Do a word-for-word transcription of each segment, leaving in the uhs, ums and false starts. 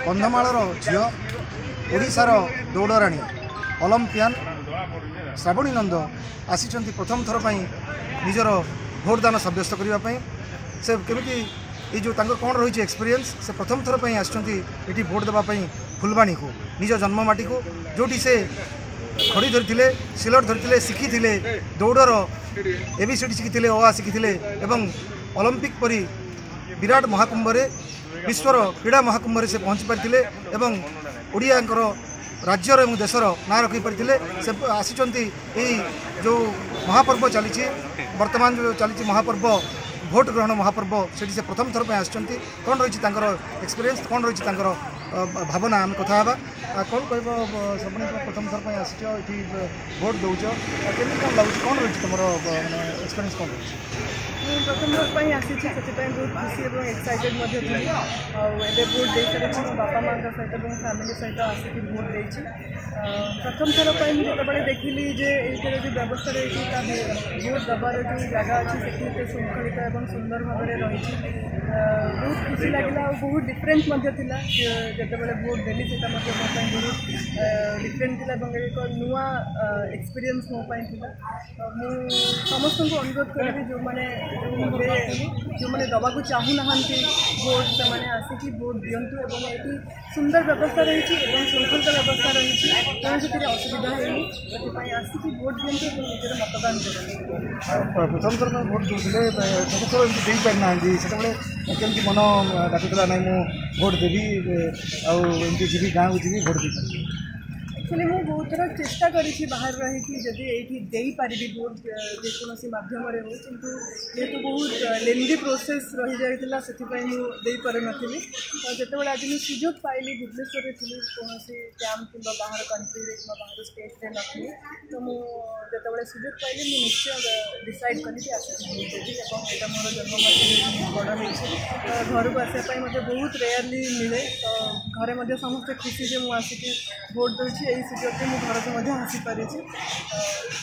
କନ୍ଧମାଳର ଝିଅ, ଓଡ଼ିଶାର ଦୌଡ଼ରାଣୀ, ଅଲମ୍ପିଆନ୍ ଶ୍ରାବଣୀ ନନ୍ଦ ଆସିଛନ୍ତି ପ୍ରଥମ ଥର ପାଇଁ ନିଜର ଭୋଟଦାନ ସାବ୍ୟସ୍ତ କରିବା ପାଇଁ। ସେ କେମିତି ଏଇ ଯେଉଁ ତାଙ୍କର କ'ଣ ରହିଛି ଏକ୍ସପିରିଏନ୍ସ, ସେ ପ୍ରଥମ ଥର ପାଇଁ ଆସିଛନ୍ତି ଏଠି ଭୋଟ ଦେବା ପାଇଁ ଫୁଲବାଣୀକୁ, ନିଜ ଜନ୍ମମାଟିକୁ, ଯେଉଁଠି ସେ ଖଡ଼ି ଧରିଥିଲେ, ସିଲଟ ଧରିଥିଲେ, ଶିଖିଥିଲେ ଦୌଡ଼ର ଏ ବି ସି ଡ଼ି ଶିଖିଥିଲେ, ଅ ଆ ଶିଖିଥିଲେ ଏବଂ ଅଲମ୍ପିକ୍ ପରି ବିରାଟ ମହାକୁମ୍ଭରେ, ବିଶ୍ୱର କ୍ରୀଡ଼ା ମହାକୁମ୍ଭରେ ସେ ପହଞ୍ଚି ପାରିଥିଲେ ଏବଂ ଓଡ଼ିଆଙ୍କର ରାଜ୍ୟର ଏବଂ ଦେଶର ନାଁ ରଖିପାରିଥିଲେ। ସେ ଆସିଛନ୍ତି ଏଇ ଯେଉଁ ମହାପର୍ବ ଚାଲିଛି ବର୍ତ୍ତମାନ, ଯେଉଁ ଚାଲିଛି ମହାପର୍ବ, ଭୋଟ ଗ୍ରହଣ ମହାପର୍ବ, ସେଠି ସେ ପ୍ରଥମ ଥର ପାଇଁ ଆସିଛନ୍ତି। କ'ଣ ରହିଛି ତାଙ୍କର ଏକ୍ସପିରିଏନ୍ସ, କ'ଣ ରହିଛି ତାଙ୍କର ଭାବନା, ଆମେ କଥା ହେବା। କ'ଣ କହିବ ଶ୍ରାବଣୀ, ପ୍ରଥମ ଥର ପାଇଁ ଆସିଛ ଏଠି, ଭୋଟ ଦେଉଛ, କେମିତି କ'ଣ ଲାଗୁଛି, କ'ଣ ରହିଛି ତୁମର ମାନେ ଏକ୍ସପିରିଏନ୍ସ କ'ଣ ରହିଛି? ମୁଁ ପ୍ରଥମ ଥର ପାଇଁ ଆସିଛି, ସେଥିପାଇଁ ବହୁତ ଖୁସି ଏବଂ ଏକ୍ସାଇଟେଡ଼ ମଧ୍ୟ ଥିଲି। ଆଉ ଏବେ ଭୋଟ ଦେଇସାରିଛି। ମୋ ବାପା ମାଆଙ୍କ ସହିତ ଏବଂ ଫ୍ୟାମିଲି ସହିତ ଆସିକି ଭୋଟ ଦେଇଛି। ପ୍ରଥମ ଥର ପାଇଁ ମୁଁ ଯେତେବେଳେ ଦେଖିଲି ଯେ ଏଇଠିର ଯେଉଁ ବ୍ୟବସ୍ଥା ରହିଛି, ତା ଭୋଟ ଦେବାର ଯେଉଁ ଜାଗା ଅଛି ସେଠି ଏତେ ଶୃଙ୍ଖଳିତ ଏବଂ ସୁନ୍ଦର ଭାବରେ ରହିଛି, ବହୁତ ଖୁସି ଲାଗିଲା। ଆଉ ବହୁତ ଡିଫରେଣ୍ଟ ମଧ୍ୟ ଥିଲା। ଯେତେବେଳେ ଭୋଟ ଦେଲି ସେଇଟା ମଧ୍ୟ ମୋ ପାଇଁ ବହୁତ ଡିଫରେଣ୍ଟ ଥିଲା ଏବଂ ଏକ ନୂଆ ଏକ୍ସପିରିଏନ୍ସ ମୋ ପାଇଁ ଥିଲା। ମୁଁ ସମସ୍ତଙ୍କୁ ଅନୁରୋଧ କରିବି, ଯେଉଁମାନେ ଯେଉଁମାନେ ଦେବାକୁ ଚାହୁଁନାହାନ୍ତି ଭୋଟ, ସେମାନେ ଆସିକି ଭୋଟ ଦିଅନ୍ତୁ। ଏବଂ ଏଠି ସୁନ୍ଦର ବ୍ୟବସ୍ଥା ରହିଛି ଏବଂ ଶୃଙ୍ଖଳିତ ବ୍ୟବସ୍ଥା ରହିଛି, ତେଣୁ ସେଥିରେ ଅସୁବିଧା ହେଇନି। ସେଥିପାଇଁ ଆସିକି ଭୋଟ ଦିଅନ୍ତୁ ଏବଂ ନିଜର ମତଦାନ କରନ୍ତୁ। ପ୍ରଥମ ଥର ପାଇଁ ଭୋଟ ଦେଉଥିଲେ, ପ୍ରଥମ ଥର ଏମିତି ଦେଇପାରିନାହାନ୍ତି, ସେତେବେଳେ କେମିତି ମନ ଡାକୁଥିଲା, ନାଇଁ ମୁଁ ଭୋଟ ଦେବି ଆଉ ଏମିତି ଯିବି, ଗାଁକୁ ଯିବି, ଭୋଟ ଦେଇପାରିବି? ଆକ୍ଚୁଆଲି ମୁଁ ବହୁତ ଥର ଚେଷ୍ଟା କରିଛି ବାହାରେ ରହିକି ଯଦି ଏଇଠି ଦେଇପାରିବି ଭୋଟ ଯେକୌଣସି ମାଧ୍ୟମରେ ହେଉ, କିନ୍ତୁ ଯେହେତୁ ବହୁତ ଲେନ୍ଦି ପ୍ରୋସେସ୍ ରହିଯାଇଥିଲା, ସେଥିପାଇଁ ମୁଁ ଦେଇପାରୁନଥିଲି। ତ ଯେତେବେଳେ ଆଜି ମୁଁ ସୁଯୋଗ ପାଇଲି, ଭୁବନେଶ୍ୱରରେ ଥିଲି, କୌଣସି କ୍ୟାମ୍ପ କିମ୍ବା ବାହାର କଣ୍ଟ୍ରିରେ କିମ୍ବା ବାହାର ଷ୍ଟେଟ୍ରେ ନଥିଲି, ତ ମୁଁ ଯେତେବେଳେ ସୁଯୋଗ ପାଇଲି ମୁଁ ନିଶ୍ଚୟ ଡିସାଇଡ଼୍ କଲି କି ଆସିକି ଭୋଟ ଦେବି। ଏବଂ ଏଇଟା ମୋର ଜନ୍ମମାଟି, ବଡ଼ ହେଇଛି, ତ ଘରକୁ ଆସିବା ପାଇଁ ମୋତେ ବହୁତ ରେୟାରଲି ମିଳେ। ତ ଘରେ ମଧ୍ୟ ସମସ୍ତେ ଖୁସି ଯେ ମୁଁ ଆସିକି ଭୋଟ ଦେଉଛି। ଏଇ ସୁଯୋଗରେ ମୁଁ ଘରକୁ ମଧ୍ୟ ଆସିପାରିଛି,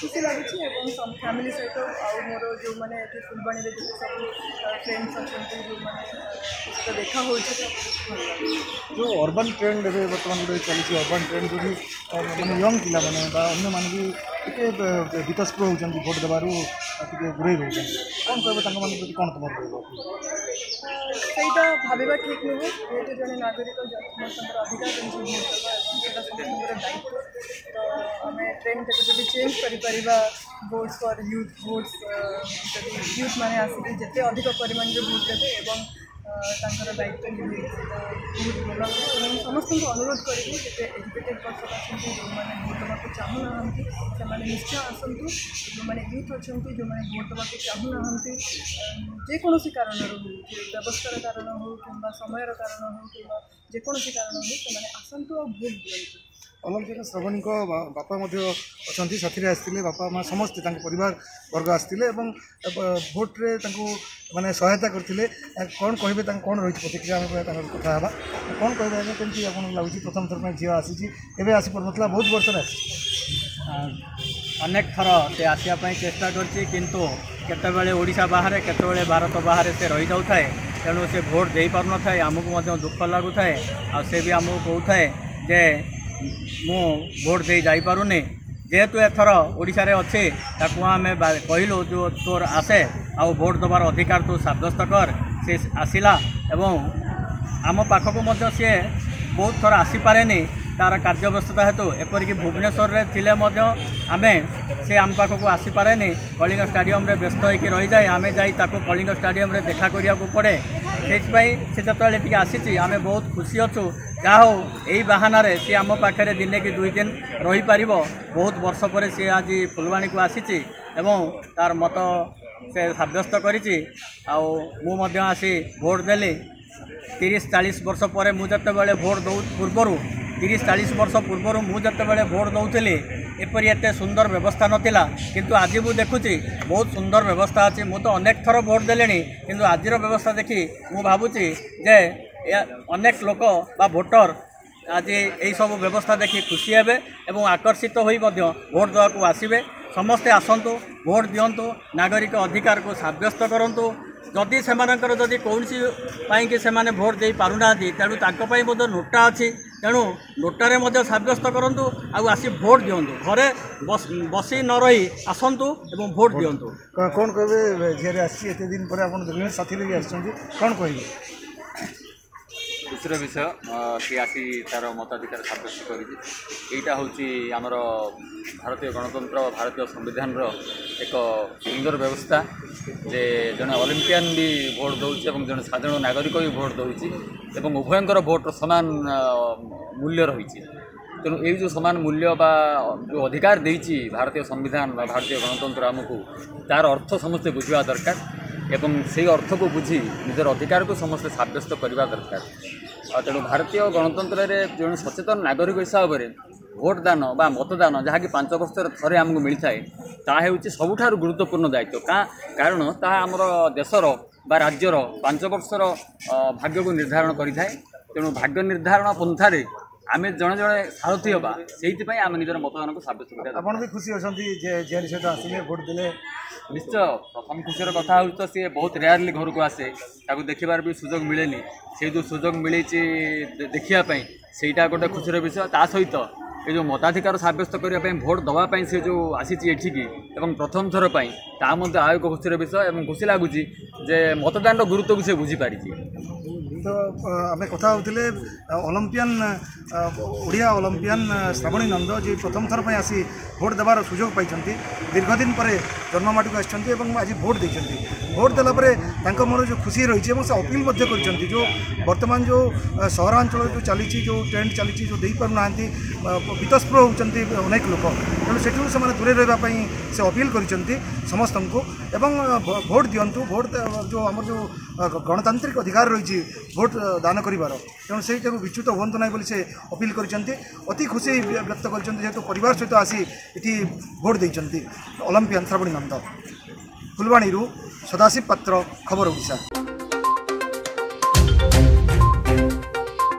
ଖୁସି ଲାଗୁଛି। ଏବଂ ଫ୍ୟାମିଲି ସହିତ ଆଉ ମୋର ଯେଉଁମାନେ ଏଠି ଫୁଲବାଣୀରେ ଯେତେ ସବୁ ଫ୍ରେଣ୍ଡସ୍ ଅଛନ୍ତି, ଯେଉଁମାନେ ସହିତ ଦେଖା ହେଉଛି, ତ ବହୁତ ଭଲ ଲାଗୁଛି। ଯେଉଁ ଅର୍ବାନ୍ ଟ୍ରେଣ୍ଡ ଏବେ ବର୍ତ୍ତମାନ ଗୋଟେ ଚାଲିଛି, ଅର୍ବାନ୍ ଟ୍ରେଣ୍ଡ ଯେଉଁଠି ମାନେ ୟଙ୍ଗ ପିଲାମାନେ ବା ଅନ୍ୟମାନେ ବି ଟିକେ ବୀତସ୍ପୃହ ହେଉଛନ୍ତି, ଭୋଟ ଦେବାରୁ ଟିକେ ଦୂରେଇ ରହୁଛନ୍ତି, କ'ଣ କହିବ ତାଙ୍କମାନଙ୍କ ପ୍ରତି, କ'ଣ ତୁମର ରହିବ? ସେଇଟା ଭାବିବା ଠିକ୍ ନୁହେଁ। ଯେହେତୁ ଜଣେ ନାଗରିକ, ସମସ୍ତଙ୍କର ଅଧିକାର ରହିଛି ଭୋଟ ଦେବା ଏବଂ ସେଇଟା ସମସ୍ତଙ୍କର ଦାୟିତ୍ୱ। ତ ଆମେ ଟ୍ରେଣ୍ଡଟାକୁ ଯଦି ଚେଞ୍ଜ କରିପାରିବା, ଭୋଟ୍ସ ଫର୍ ୟୁଥ୍, ଭୋଟ୍ସ ଯଦି ୟୁଥ୍ ମାନେ ଆସିକି ଯେତେ ଅଧିକ ପରିମାଣରେ ଭୋଟ୍ ଦେବେ ଏବଂ ତାଙ୍କର ଦାୟିତ୍ୱ ନିଭେଇବେ, ସେଇଟା ବହୁତ ଭଲ ହେବ। ଏବଂ ସମସ୍ତଙ୍କୁ ଅନୁରୋଧ କରିବି, ଯେତେ ଏଜୁକେଟେଡ଼ ପର୍ସନ୍ ଅଛନ୍ତି, ଯେଉଁମାନେ ଭୋଟ୍ ଦେବାକୁ ଚାହୁଁନାହାନ୍ତି, ସେମାନେ ନିଶ୍ଚୟ ଆସନ୍ତୁ। ଯେଉଁମାନେ ୟୁଥ୍ ଅଛନ୍ତି, ଯେଉଁମାନେ ଭୋଟ୍ ଦେବାକୁ ଚାହୁଁନାହାନ୍ତି ଯେକୌଣସି କାରଣରୁ ହେଉ, ବ୍ୟବସ୍ଥାର କାରଣ ହେଉ କିମ୍ବା ସମୟର କାରଣ ହେଉ କିମ୍ବା ଯେକୌଣସି କାରଣ ହେଉ, ସେମାନେ ଆସନ୍ତୁ ଆଉ ଭୋଟ୍ ଦିଅନ୍ତୁ। ଅଲମ୍ପିକ ଶ୍ରାବଣୀଙ୍କ ବାପା ମଧ୍ୟ ଅଛନ୍ତି, ସାଥିରେ ଆସିଥିଲେ। ବାପା ମା ସମସ୍ତେ ତାଙ୍କ ପରିବାର ବର୍ଗ ଆସିଥିଲେ ଏବଂ ଭୋଟରେ ତାଙ୍କୁ ମାନେ ସହାୟତା କରିଥିଲେ। କ'ଣ କହିବେ, ତାଙ୍କ କ'ଣ ରହିଛି ପ୍ରତିକ୍ରିୟା, ଆମେ ତାଙ୍କର କଥା ହେବା। କ'ଣ କହିବେ ଆଜ୍ଞା, କେମିତି ଆପଣଙ୍କୁ ଲାଗୁଛି, ପ୍ରଥମ ଥର ପାଇଁ ଝିଅ ଆସିଛି, ଏବେ ଆସିପାରୁନଥିଲା, ବହୁତ ବର୍ଷରେ ଆସିଛି? ଅନେକ ଥର ସେ ଆସିବା ପାଇଁ ଚେଷ୍ଟା କରିଛି, କିନ୍ତୁ କେତେବେଳେ ଓଡ଼ିଶା ବାହାରେ, କେତେବେଳେ ଭାରତ ବାହାରେ ସେ ରହିଯାଉଥାଏ, ତେଣୁ ସେ ଭୋଟ ଦେଇପାରୁନଥାଏ। ଆମକୁ ମଧ୍ୟ ଦୁଃଖ ଲାଗୁଥାଏ। ଆଉ ସେ ବି ଆମକୁ କହୁଥାଏ ଯେ ମୁଁ ଭୋଟ ଦେଇ ଯାଇପାରୁନି। ଯେହେତୁ ଏଥର ଓଡ଼ିଶାରେ ଅଛି, ତାକୁ ଆମେ କହିଲୁ ଯେଉଁ ତୋର ଆସେ ଆଉ ଭୋଟ ଦେବାର ଅଧିକାର ତୁ ସାବ୍ୟସ୍ତ କର। ସେ ଆସିଲା ଏବଂ ଆମ ପାଖକୁ ମଧ୍ୟ ସିଏ ବହୁତ ଥର ଆସିପାରେନି ତା'ର କାର୍ଯ୍ୟବ୍ୟସ୍ତତା ହେତୁ। ଏପରିକି ଭୁବନେଶ୍ୱରରେ ଥିଲେ ମଧ୍ୟ ଆମେ ସେ ଆମ ପାଖକୁ ଆସିପାରେନି, କଳିଙ୍ଗ ଷ୍ଟାଡ଼ିୟମରେ ବ୍ୟସ୍ତ ହେଇକି ରହିଯାଏ। ଆମେ ଯାଇ ତାକୁ କଳିଙ୍ଗ ଷ୍ଟାଡ଼ିୟମରେ ଦେଖା କରିବାକୁ ପଡ଼େ। ସେଇଥିପାଇଁ ସେ ଯେତେବେଳେ ଟିକେ ଆସିଛି ଆମେ ବହୁତ ଖୁସି ଅଛୁ। ଯାହା ହଉ, ଏଇ ବାହାନାରେ ସିଏ ଆମ ପାଖରେ ଦିନେ କି ଦୁଇ ଦିନ ରହିପାରିବ। ବହୁତ ବର୍ଷ ପରେ ସିଏ ଆଜି ଫୁଲବାଣୀକୁ ଆସିଛି ଏବଂ ତା'ର ମତ ସେ ସାବ୍ୟସ୍ତ କରିଛି। ଆଉ ମୁଁ ମଧ୍ୟ ଆସି ଭୋଟ ଦେଲି। ତିରିଶ ଚାଳିଶ ବର୍ଷ ପରେ ମୁଁ ଯେତେବେଳେ ଭୋଟ ଦେଉ ପୂର୍ବରୁ, ତିରିଶ ଚାଳିଶ ବର୍ଷ ପୂର୍ବରୁ ମୁଁ ଯେତେବେଳେ ଭୋଟ ଦେଉଥିଲି, ଏପରି ଏତେ ସୁନ୍ଦର ବ୍ୟବସ୍ଥା ନଥିଲା। କିନ୍ତୁ ଆଜି ମୁଁ ଦେଖୁଛି ବହୁତ ସୁନ୍ଦର ବ୍ୟବସ୍ଥା ଅଛି। ମୁଁ ତ ଅନେକ ଥର ଭୋଟ ଦେଲିଣି, କିନ୍ତୁ ଆଜିର ବ୍ୟବସ୍ଥା ଦେଖି ମୁଁ ଭାବୁଛି ଯେ ଅନେକ ଲୋକ ବା ଭୋଟର ଆଜି ଏଇସବୁ ବ୍ୟବସ୍ଥା ଦେଖି ଖୁସି ହେବେ ଏବଂ ଆକର୍ଷିତ ହୋଇ ମଧ୍ୟ ଭୋଟ ଦେବାକୁ ଆସିବେ। ସମସ୍ତେ ଆସନ୍ତୁ, ଭୋଟ ଦିଅନ୍ତୁ, ନାଗରିକ ଅଧିକାରକୁ ସାବ୍ୟସ୍ତ କରନ୍ତୁ। ଯଦି ସେମାନଙ୍କର ଯଦି କୌଣସି ପାଇଁକି ସେମାନେ ଭୋଟ୍ ଦେଇପାରୁନାହାନ୍ତି, ତେଣୁ ତାଙ୍କ ପାଇଁ ମଧ୍ୟ ନୋଟା ଅଛି। ତେଣୁ ନୋଟାରେ ମଧ୍ୟ ସାବ୍ୟସ୍ତ କରନ୍ତୁ ଆଉ ଆସି ଭୋଟ୍ ଦିଅନ୍ତୁ। ଘରେ ବସି ନ ରହି ଆସନ୍ତୁ ଏବଂ ଭୋଟ୍ ଦିଅନ୍ତୁ। କ'ଣ କହିବେ, ଝିଅରେ ଆସିଛି ଏତେ ଦିନ ପରେ ଆପଣ ଦେଖିଲେ, ସାଥିରେ ବି ଆସିଛନ୍ତି, କ'ଣ କହିବେ? ଖୁସିର ବିଷୟ, ସିଏ ଆସି ତା'ର ମତାଧିକାର ସାବ୍ୟସ୍ତ କରିଛି। ଏଇଟା ହେଉଛି ଆମର ଭାରତୀୟ ଗଣତନ୍ତ୍ର, ଭାରତୀୟ ସମ୍ବିଧାନର ଏକ ସୁନ୍ଦର ବ୍ୟବସ୍ଥା ଯେ ଜଣେ ଅଲିମ୍ପିଆନ୍ ବି ଭୋଟ୍ ଦେଉଛି ଏବଂ ଜଣେ ସାଧାରଣ ନାଗରିକ ବି ଭୋଟ୍ ଦେଉଛି ଏବଂ ଉଭୟଙ୍କର ଭୋଟ୍ର ସମାନ ମୂଲ୍ୟ ରହିଛି। ତେଣୁ ଏଇ ଯେଉଁ ସମାନ ମୂଲ୍ୟ ବା ଯେଉଁ ଅଧିକାର ଦେଇଛି ଭାରତୀୟ ସମ୍ବିଧାନ ବା ଭାରତୀୟ ଗଣତନ୍ତ୍ର ଆମକୁ, ତା'ର ଅର୍ଥ ସମସ୍ତେ ବୁଝିବା ଦରକାର ଏବଂ ସେଇ ଅର୍ଥକୁ ବୁଝି ନିଜର ଅଧିକାରକୁ ସମସ୍ତେ ସାବ୍ୟସ୍ତ କରିବା ଦରକାର। ଆଉ ତେଣୁ ଭାରତୀୟ ଗଣତନ୍ତ୍ରରେ ଜଣେ ସଚେତନ ନାଗରିକ ହିସାବରେ ଭୋଟ ଦାନ ବା ମତଦାନ, ଯାହାକି ପାଞ୍ଚ ବର୍ଷରେ ଥରେ ଆମକୁ ମିଳିଥାଏ, ତାହା ହେଉଛି ସବୁଠାରୁ ଗୁରୁତ୍ୱପୂର୍ଣ୍ଣ ଦାୟିତ୍ୱ। କାରଣ ତାହା ଆମର ଦେଶର ବା ରାଜ୍ୟର ପାଞ୍ଚ ବର୍ଷର ଭାଗ୍ୟକୁ ନିର୍ଦ୍ଧାରଣ କରିଥାଏ। ତେଣୁ ଭାଗ୍ୟ ନିର୍ଦ୍ଧାରଣ ପନ୍ଥାରେ ଆମେ ଜଣେ ଜଣେ ସାରଥି ହେବା, ସେଇଥିପାଇଁ ଆମେ ନିଜର ମତଦାନକୁ ସାବ୍ୟସ୍ତ କରିବା। ଆପଣ ବି ଖୁସି ଅଛନ୍ତି ଯେ ଝିଆରୀ ସହିତ ଆସିଲେ, ଭୋଟ ଦେଲେ? ନିଶ୍ଚୟ। ପ୍ରଥମ ଖୁସିର କଥା ହେଉଛି ତ ସିଏ ବହୁତ ରେୟାରଲି ଘରକୁ ଆସେ, ତାକୁ ଦେଖିବାର ବି ସୁଯୋଗ ମିଳେନି। ସେଇ ଯେଉଁ ସୁଯୋଗ ମିଳିଛି ଦେଖିବା ପାଇଁ, ସେଇଟା ଗୋଟେ ଖୁସିର ବିଷୟ। ତା ସହିତ ଏ ଯେଉଁ ମତାଧିକାର ସାବ୍ୟସ୍ତ କରିବା ପାଇଁ, ଭୋଟ ଦେବା ପାଇଁ ସେ ଯେଉଁ ଆସିଛି ଏଠିକି ଏବଂ ପ୍ରଥମ ଥର ପାଇଁ, ତାହା ମଧ୍ୟ ଆଉ ଏକ ଖୁସିର ବିଷୟ ଏବଂ ଖୁସି ଲାଗୁଛି ଯେ ମତଦାନର ଗୁରୁତ୍ୱକୁ ସେ ବୁଝିପାରିଛି। ତ ଆମେ କଥା ହେଉଥିଲେ ଅଲମ୍ପିଆନ୍, ଓଡ଼ିଆ ଅଲମ୍ପିଆନ୍ ଶ୍ରାବଣୀ ନନ୍ଦ, ଯିଏ ପ୍ରଥମ ଥର ପାଇଁ ଆସି ଭୋଟ ଦେବାର ସୁଯୋଗ ପାଇଛନ୍ତି। ଦୀର୍ଘ ଦିନ ପରେ ଜନ୍ମମାଟିକୁ ଆସିଛନ୍ତି ଏବଂ ଆଜି ଭୋଟ ଦେଇଛନ୍ତି। ଭୋଟ ଦେଲା ପରେ ତାଙ୍କ ମନରେ ଯେଉଁ ଖୁସି ରହିଛି ଏବଂ ସେ ଅପିଲ ମଧ୍ୟ କରିଛନ୍ତି, ଯେଉଁ ବର୍ତ୍ତମାନ ଯେଉଁ ସହରାଞ୍ଚଳରେ ଯେଉଁ ଚାଲିଛି, ଯେଉଁ ଟ୍ରେଣ୍ଡ ଚାଲିଛି, ଯେଉଁ ଦେଇପାରୁନାହାନ୍ତି, ବିତସ୍ପୃହ ହେଉଛନ୍ତି ଅନେକ ଲୋକ, ତେଣୁ ସେଠୁ ସେମାନେ ଦୂରେଇ ରହିବା ପାଇଁ ସେ ଅପିଲ କରିଛନ୍ତି ସମସ୍ତଙ୍କୁ ଏବଂ ଭୋଟ ଦିଅନ୍ତୁ। ଭୋଟ ଯେଉଁ ଆମର ଯେଉଁ ଗଣତାନ୍ତ୍ରିକ ଅଧିକାର ରହିଛି ଭୋଟ ଦାନ କରିବାର, ତେଣୁ ସେଇଟାକୁ ବିଚ୍ୟୁତ ହୁଅନ୍ତୁ ନାହିଁ ବୋଲି ସେ ଅପିଲ କରିଛନ୍ତି। ଅତି ଖୁସି ବ୍ୟକ୍ତ କରିଛନ୍ତି ଯେହେତୁ ପରିବାର ସହିତ ଆସି ଏଠି ଭୋଟ ଦେଇଛନ୍ତି ଅଲମ୍ପିଆନ୍ ଶ୍ରାବଣୀ ନନ୍ଦ। ଫୁଲବାଣୀରୁ ସଦାଶିବ ପାତ୍ର, ଖବର ଓଡ଼ିଶା।